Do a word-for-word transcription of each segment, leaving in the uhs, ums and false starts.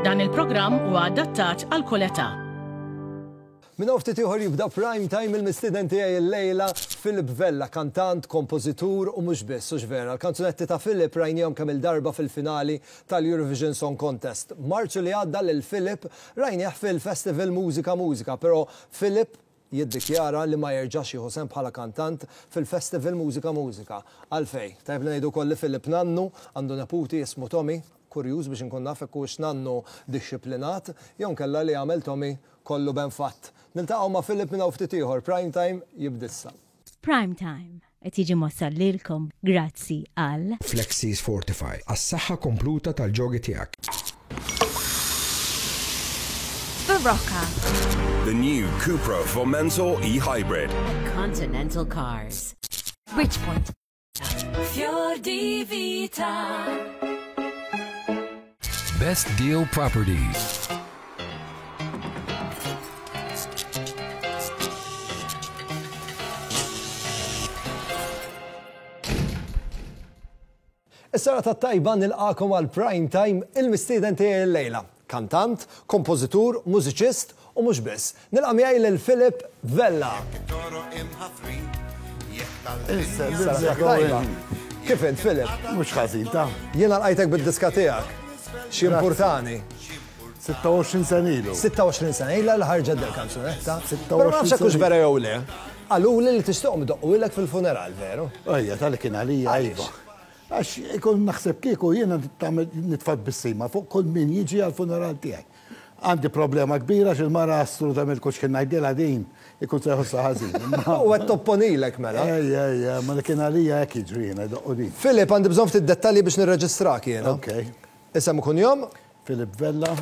Dan il-programm huwa adattat għal kull età. Minn ftit ieħor jibda Prime Time. Il-mistieden tiegħi llejla Philip Vella, kantant, kompożitur u mhux biss, hux vera? Il-kanzunetti ta' Philip rajnihom kemm il-darba fil-finali tal-Eurovision Song Contest. Marzu li għadda lil Philip rajnieh fil-Festival Mużika Mużika, però Philip jiddikjara li ma jerġax jieħu sehem bħala kantant fil-Festival Mużika Mużika. Għalfejn? Tajb li ngħidu kolli Philip nannu, għandu neputi jismu Tommy, kurjuż biex nkun naf hekk hux nannu dixxiplinat, jew kella li għamel Tommy kollu ben fatt. Niltaqgħu ma' Philip minn hawn ftit ieħor. Prime Time jibda issa. Prime Time qed jiġi mwassal lilkom grazzi għal Flexis Fortify, għas-saħħa kompluta tal-ġogi tiegħek. Barocca. The new Cupra Formentor e-Hybrid. Continental Cars. Bridgepoint. Fior di Vita. Best Deal Properties. Is-serata tajba, nilqagħkom għal Prime Time. Il-mistieden tiegħi llejla. Kantant, kompożitur, mużiċist u mhux biss. Nilqa' miegħi lil Philip Vella. Serata tajba. Kif int, Philip? Mhux ħażin ta. Jiena lqajtek bid-diska tiegħek. Xi importani. sitta u għoxrin sena ilu. sitta u għoxrin sena ilha li ħarġet del kanzunetta. sitta u għoxrin Però ma nafx hekk hux sena. vera jew le. Qaluli li tixtieqhom idoqqulek fil-funeral, veru? Ejja, tal kien għalija. Għaliex? Iva. Għax ikun naħseb kieku jiena nitfa' tbissima fuq kull min jiġi għal-funeral tiegħi. Għandi problema kbira għax il-mara assolutament kull x'kien ngħidilha din ikun se jħossha ħażin. U qed topponilek mela. Ejja, ejja, ma li kien għalija hekk jiġri jiena jdoqqu din. Philip, għandi bżonn ftit dettalji biex nirreġistrak jiena. Ok. Isem u kunjom? Philip Vella.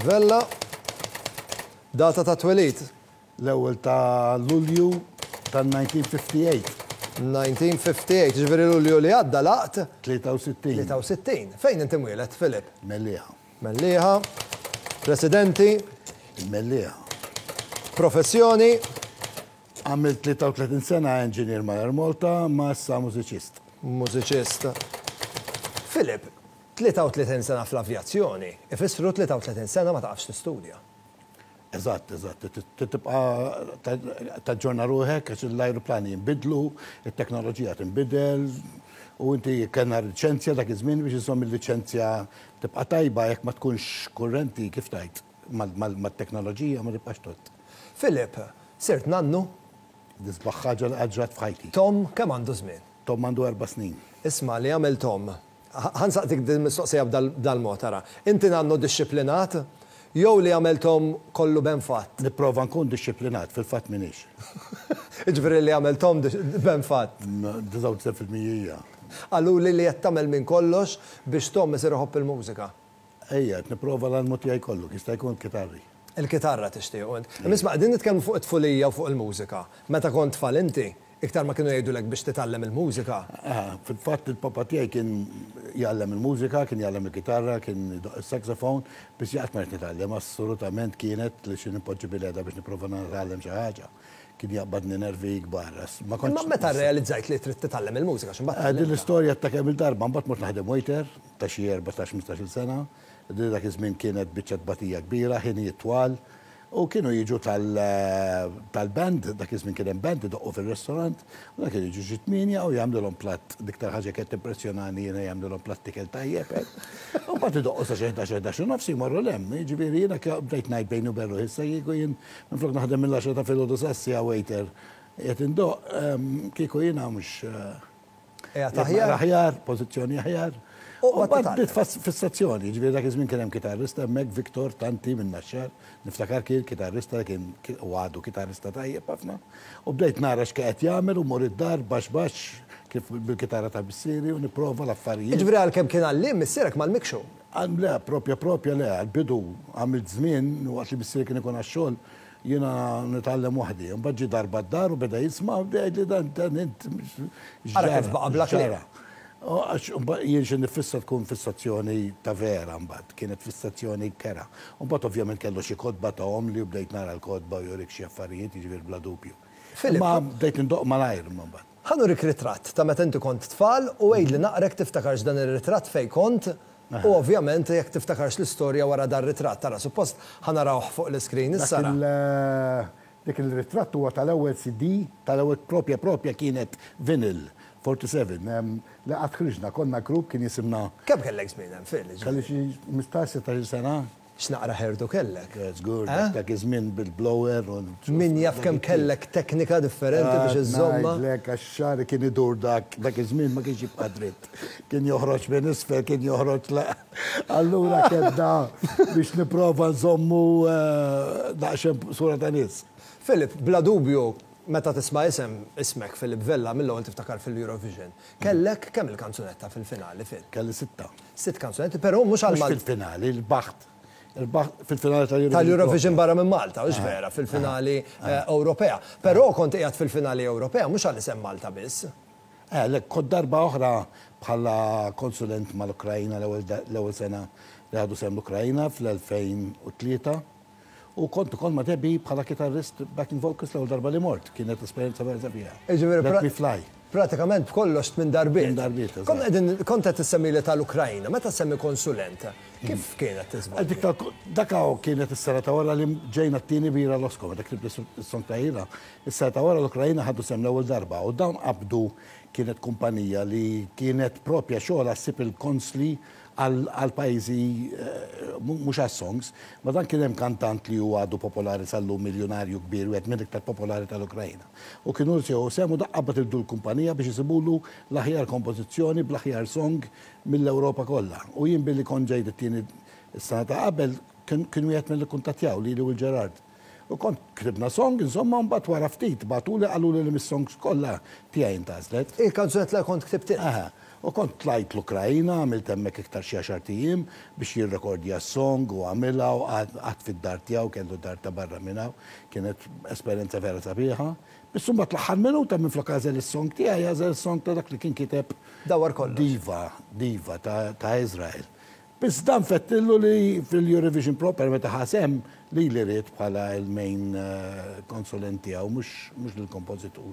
Vella. Data ta' twelid? L-ewwel ta' Lulju tan-elf disa' mija u ħamsa u ħamsin. elf disa' mija u ħamsa u ħamsin, ġifieri Lulju li għadda laqt tlieta u sittin. tlieta u sittin. Fejn inti mwieled, Philip? Mellieħa. Mellieħa. Residenti? Mellieħa. Professjoni? Għamilt tlieta u tletin sena engineer ma' Air Malta, ma issa mużiċist. Mużiċist. Philip, tlieta u tletin sena fl-avjazzjoni, ifissru tlieta u tletin sena ma taqafx tistudja. Eżatt, eżatt. Tibqa taġġorna ruħek għax l-ajruplani jinbidlu, it-teknoloġija tinbidel, u inti kellna liċenzja dak iż-żmien biex iżomm il-liċenzja tibqa' tajba. Jekk ma tkunx kurrenti, kif tajt, mat-teknoloġija ma tibqax tot. Philip, sirt nannu? L-isbaħ ħaġa li ġrat f'ħajti. Tom, kemm għandu żmien? Tom għandu erba' snin. Isma' li għamel Tom. Ħa nsaqsik din mistoqsija b'dal-mod, ara. Inti nannu dixxiplinat, jew li għamel Tom kollu ben fatt? Nipprova nkun dixxiplinat, fil-fatt m'iniex. Ġifieri li għamel Tom ben fatt. disgħa u disgħin fil-mija. Qaluli li qed tagħmel minn kollox biex Tom isir iħobb il-mużika. Ejja, qed nipprova l-almu tiegħi kollu, jista' jkun kitarri. Il-kitarra tixtieq int. Imma qegħdin nitkellmu fuq it-tfulija u fuq il-mużika. Meta kont tfal inti, iktar ma kienu jgħidulek biex titgħallem il-mużika. Ah, fil-fatt il-papa tiegħi kien jgħallem il-mużika, kien jgħallem il-kitarra, kien idoqq il-saxophone, biex jaqt ma nitgħallem, assolutament kienet li xi nipoġġi bil-qiegħda biex nipprova nitgħallem xi ħaġa. Kien jaqbadni nervi kbar. Ma kontx Imma meta realizzajt li trid titgħallem il-mużika, x'imbagħad Eh, Din tgħallimtha? l-istorja ta' kemm il-darba, mbagħad mort naħdem waiter ta' xi erbatax ħmistax-il sena. Din dak iż-żmien kienet biċċa tbatija kbira, ħinijiet twal. U kienu jiġu tal- tal-band, dak iż-żmien kien hemm band idoqqu fil-restorant, u dak kienu jiġu xi tmienja u jagħmlulhom platt, l-iktar ħaġa kienet impressjonani jiena jagħmlulhom platt ikel tajjeb. eh. U mbagħad idoqqu sa xi ħdax, ħdax u nofs jmorru 'l hemm. Jiġifieri jiena bdejt ngħid bejni u bejn ruħi, issa kieku jien minflok naħdem mill-għaxra ta' filgħodu sas-siegħa waiter qed indoqq, ehm, kieku jiena mhux Qiegħed aħjar? Aħjar, pożizzjoni aħjar. U U mbagħad mbagħad titgħallem. bdiet fas- fissazzjoni, ġifieri dak iż-żmien kien hemm kitarrista hemmhekk, Viktor Tanti minn Naxxar, niftakar kien kitarrista kien kien- u għadu kitarrista tajjeb ħafna. U bdejt nara x'qed jagħmel u mor id-dar baxx baxx kif bil-kitarra ta' missieri u nipprova l-affarijiet. Ġifieri għalkemm kien għalliem missierek m'għallmekx hu. Għal le, propja propja le, għal-bidu għamilt żmien waqt li missieri kien ikun għax-xogħol jiena nitgħallem waħdi. Mbagħad ġie darba d-dar u beda jisma' u beda jgħidli dan dan int Ara kif baqa' bla kliem. ġara. U għax mbagħad jien xi nifissa tkun fissazzjoni ta' vera mbagħad, kienet fissazzjoni kera. U mbagħad ovvjament kellu xi kotba tahom li u bdejt nara l-kotba u jurik xi affarijiet, jiġifieri bla dubju. Filip, Ma bdejt indoqq malajr mbagħad. Ħa nurik ritratt ta' meta inti kont tfal u għidli naqra jekk tiftakarx dan ir-ritratt fejn kont. U ovvjament jekk tiftakarx l-istorja wara dar ritratt, tara suppost ħa narawh fuq l-iskrin issa. Dik il-ritratt huwa tal-ewwel C D, tal-ewwel propja propja kienet vinyl erbgħa u sebgħin. Li qatt ħriġna, konna grupp kien jisimna. Kemm kellek żmien hemm, Phil? Kelli xi ħmistax sittax-il sena. X'naqra hairdo kellek? Żgur, dak iż-żmien bil-blower. Min jaf kemm kellek teknika differenti biex iżżomma. Ngħidlek, għax xagħri kien idur dak dak iż-żmien, ma kienx jibqa' dritt. Kien joħroġ minn isfel, kien joħroġ la. Allura kedda biex nipprova nżommu daqsxejn sura ta' nies. Philip, bla dubju, meta tisma' isem ismek Philip Vella, mill-ewwel tiftakar fil-Eurovision. Kellek kemm il-kanzunetta fil-finali, Phil? Kelli sitta. Sitt kanzunetti, però mhux għal Mhux fil-finali, rbaħt. Fil-finali tal-Eurovision. Tal-Eurovision barra minn Malta, hux vera, fil-finali Ewropea. Però kont qiegħed fil-finali Ewropea mhux għal isem Malta biss. Eh, le, kont darba oħra bħala konsulent mal-Ukrajna, l-ewwel sena li ħadu sehem l-Ukrajna fl-elfejn u tlieta. U kont ukoll ma' Debbie bħala kitarrist, backing vocals, l-ewwel darba li mort. Kienet esperjenza vera sabiħa. Let me fly. Pratikament b'kollox minn darbiet. Minn darbiet. Kont qegħdin kont qed tissemmi li tal-Ukrajna, meta semmi konsulent, kif kienet tiżvolġi? Dik dak kienet is-sena ta' wara li ġejna t-tieni b'Ira Losco, meta ktibt is-song ta' Ira. Is-sena ta' wara l-Ukrajna ħadu sehem l-ewwel darba u dawn qabdu, kienet kumpanija li kienet propja xogħol ssib il-konsli għal pajjiżi, mhux għas songs, ma dan kien hemm kantant li huwa għadu popolari sal-lum, miljonarju kbir, wieħed mill-iktar popolari tal-Ukrajna. U kienu sew semu daqqabat il l-kumpanija biex isibulu l-aħjar kompożizzjoni bl-aħjar song mill-Ewropa kollha. U jien billi kont ġejt it-tieni s-sena ta' qabel, kien wieħed mill kuntattjaw li u l-Gerard. U kont ktibna song, insomma, mbagħad wara ftit bagħtuli, qaluli li mis-songs kollha tiegħi intgħażlet. Il-kanzunetta li kont ktibt. Aha. U kont tlajt l-Ukrajina, għamilt hemmhekk iktar xi għaxart ijiem biex jirrekordja s-song u għamilha u qgħadt fid-dar tiegħu, kellu dar ta' barra minn hawn, kienet esperjenza vera sabiħa. Biss imbagħad l-aħħar minuta, minflok għażel is-song tiegħi, għażel is-song ta' dak li kien kiteb Dawar kollox. Diva, Diva ta' ta' Israel. Biss dan fettillu li fil-Eurovision proper meta ħa sehem li li ried bħala il-main eh, konsulent tiegħu, mhux mhux lill-kompożitur.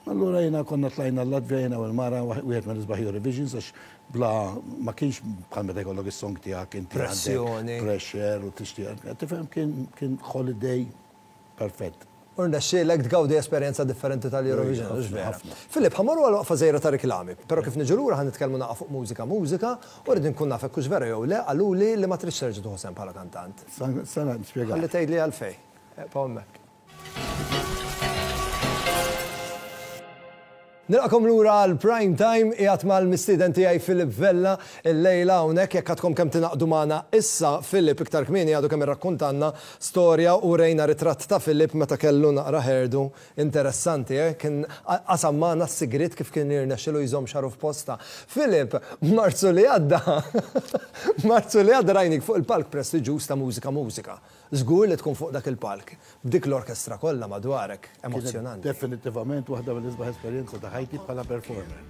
Allura jiena konna tlajna l-Latvija, jiena u l-mara, wieħed mill-isbaħ Eurovisions, għax bla ma kienx bħal meta jkollok is-song tiegħek inti għandek Pressjoni. Pressure u tixtieq. Tifhem, kien kien holiday perfett. U rnexxielek tgawdi esperjenza differenti tal-Eurovision, Ħafna, hux vera? ħafna. Filip, ħa mmorru għal waqfa żgħira ta' reklami, però kif niġu lura ħa nitkellmu naqa' fuq mużika mużika u rrid nkun naf hekk hux vera jew le, qaluli li ma tridx terġa' tieħu sehem bħala kantant. Sena nispjega. Ħalli tgħidli għalfejn. Ibqa' hemmhekk. Nilqagħkom lura għal Prime Time, qiegħed mal-mistieden tiegħi Philip Vella illejla hawnhekk. Jekk għadkom kemm tingħaqdu magħna issa, Philip iktar kmieni għadu kemm irrakkontanna storja u rejna ritratt ta' Philip meta kellu naqra hairdo interessanti, eh? Kien qasam magħna s-sigriet kif kien jirnexxilu jżomm xagħru f'posta. Philip, Marzu li għadda, Marzu li għadda rajnik fuq il-palk prestiġjuż ta' Mużika Mużika. Żgur li tkun fuq dak il-palk, b'dik l-orkestra kollha madwarek, emozzjonanti. Definitivament waħda mill-isbaħ esperjenza ta' ħajti bħala performer.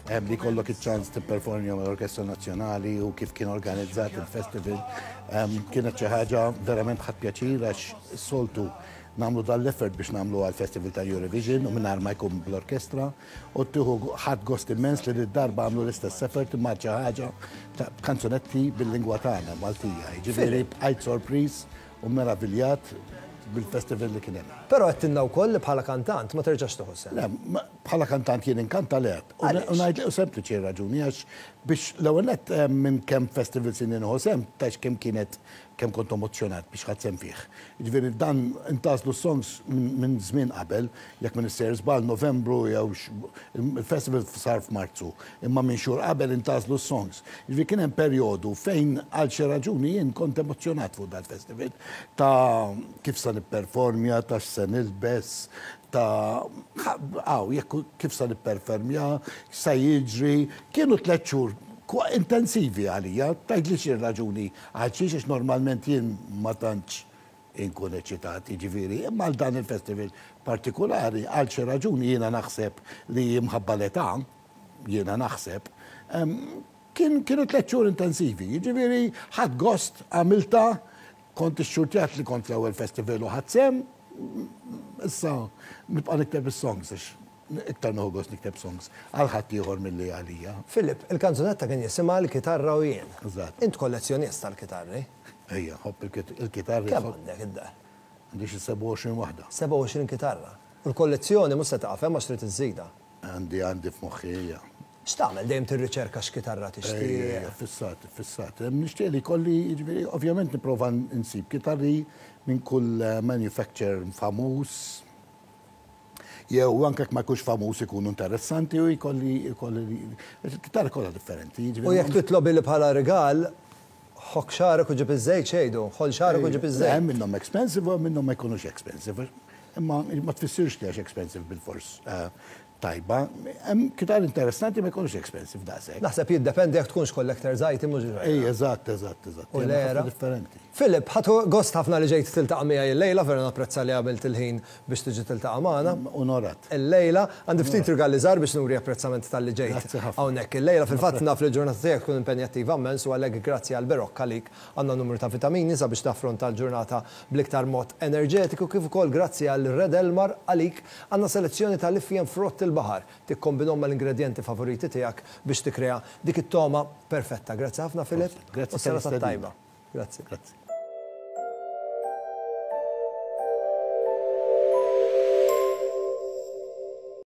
Hemm li kollok iċ-ċans tipperformja mal-Orkestra Nazzjonali u kif kien organizzat il-festival. Em, Kienet xi ħaġa verament ħadt pjaċir, għax soltu nagħmlu dal-effort biex nagħmlu għal-festival ta' Eurovision u mingħajr ma jkun bl-orkestra u tieħu ħadd gost immens li darba għamlu l-istess effort imma xi ħaġa ta' kanzunetti bil-lingwa tagħna Maltija. Jiġifieri bqajt sorpriż u meraviljat bil-festival li kien hemm. Però għedtilna wkoll li bħala kantant ma terġax tieħu sehem. Le, ma- bħala kantant jien inkanta le. U Għaliex? u ngħid u sempliċi raġuni, għax biex l-ewwel nett eh, minn kemm festival sin nieħu sehem, tax kemm kienet kemm kont emozzjonat biex ħadt sehem fih. Jiġifieri dan intgħażlu songs minn minn żmien qabel, jekk minn issejjer żball Novembru jew x- il-festival sar f'Marzu, imma minn xhur qabel intgħażlu songs. Jiġifieri kien hemm perjodu fejn għal xi raġuni jien kont emozzjonat fuq dal-festival ta' kif se nipperformja, ta' x'se nilbes, ta' għaw, jekk kif se nipperformja, sa jiġri, kienu tliet xhur kwa intensivi għalija, tgħidli xi raġuni għal xiex, għax normalment jien ma tantx inkun eċitat, jiġifieri, imma għal dan il-festival partikolari, għal xi raġuni, jiena naħseb li minħabba l-età, jiena naħseb, em, kien kienu tliet xhur intensivi, jiġifieri ħadt gost, għamilta, kont ixxurtjat li kont l-ewwel festival u ħadt sehem, issa nibqa' nikteb is-songs għax Iktar nieħu gost nikteb songs għal ħaddieħor milli għalija. Philip, il-kanzunetta kien jisimha "L-Kitarra u Jien". Eżatt. Int kollezzjonist tal-kitarri. Ejja, nħobb il-kitarri. Kemm għandek id-dar? Għandi xi sebgħa u għoxrin waħda. sebgħa u għoxrin kitarra. U l-kollezzjoni mhux se taqaf hemm, għax trid iżżidha. Għandi għandi f'moħħi, ejja. X'tagħmel, dejjem tirriċerka x'kitarra tixtieq? Fissat, fissat. Nixtieq li kolli, jiġifieri, ovvjament nipprova nsib kitarri minn kull eh, manufacturer famuż. Jew anke jekk ma jkunx famuż, ikunu interessanti u jkolli jkolli il-kitarri kollha differenti. Jiġifieri, U jekk titlob li bħala rigal, ħokk xagħrek u ġib iż-żejt xejdu, ħoll xagħrek u ġib iż-żejt. Hemm minnhom expensive u hemm minnhom ma jkunux expensive. Imma ma tfissirx li għax expensive bil-fors eh, tajba. Hemm kitarri interessanti ma jkunux expensive daqshekk. Naħseb jiddependi jekk tkunx collector's item, mhux vera? Ej, eżatt, eżatt, eżatt. U Hemm l-era. ħafna differenti. Philip, ħadt gost ħafna li ġejt tiltaqa' miegħi illejla, vera napprezza li għamilt il-ħin biex tiġi tiltaqa' magħna. Onorat. Illejla, għandi ftit rigali żgħar biex nuri apprezzament talli ġejt. Grazzi ħafna. Hawnhekk illejla, fil-fatt naf li l-ġurnata tiegħek tkun impenjattiva immens u għalhekk grazzi għal Berocca għalik għandna numru ta' vitamini sabiex taffronta l-ġurnata bl-iktar mod enerġetiku, kif ukoll grazzi għal Red Elmar għalik għandna selezzjoni tal-ifjen frott il-baħar. Tikkombinhom mal-ingredienti favoriti tiegħek biex tikkrea dik it-toma perfetta. Grazzi ħafna, Philip. Grazzi U serata tal-istedina. tajba. Grazzi. Grazzi.